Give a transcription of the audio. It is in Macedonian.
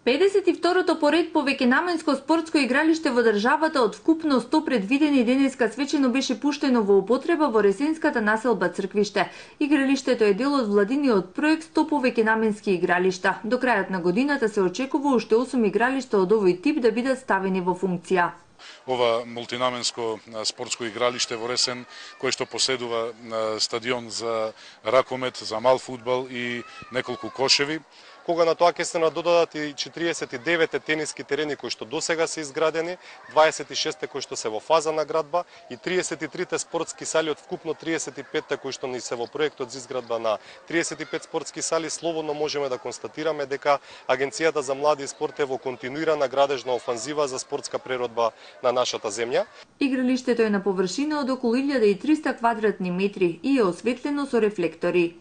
52-то поред повеќенаменско спортско игралиште во државата од вкупно 100 предвидени денеска свечено беше пуштено во употреба во ресенската населба Црквиште. Игралиштето е дел од владиниот проект 100 повеќенаменски игралишта. До крајот на годината се очекува уште 8 игралишта од овој тип да бидат ставени во функција. Ова мултинаменско спортско игралиште во Ресен, кој што поседува стадион за ракомет, за мал фудбал и неколку кошеви. Кога на тоа ќе се надодадат и 49 тениски терени кои што досега се изградени, 26 кои што се во фаза на градба и 33 спортски сали од вкупно 35 кои што ни се во проектот за изградба на 35 спортски сали, слободно можеме да констатираме дека Агенцијата за млади и спорт е во континуирана градежна офанзива за спортска преродба на нашата земја. Игралиштето е на површина од околу 1300 квадратни метри и е осветлено со рефлектори.